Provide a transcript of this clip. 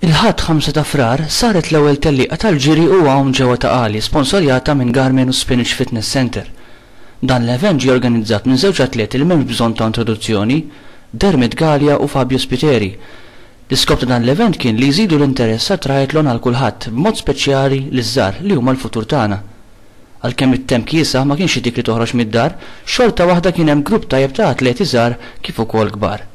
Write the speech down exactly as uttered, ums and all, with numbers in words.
Il-Ħadd ħamsa ta' Frar saret l-ewwel tellieqa tal-ġiri u għawm ġewwa Ta' Qali, sponsorjata minn Garmin u Spinach Fitness Center. Dan l-event ġie organizzat minn żewġ atleti li m'hemmx bżonn ta' introduzzjoni, Dermot Galea u Fabio Spiteri. L-iskop ta' dan l-event kien li jżidu l-interess għat-triathlon għal kulħadd, b'mod speċjali liż-żgħar li huma l-futur tagħna. Għalkemm it-temp kiesaħ ma kienx dik li toħroġ mid-dar, xorta waħda kien hemm grupp tajjeb ta' atleti żgħar kif ukoll kbar.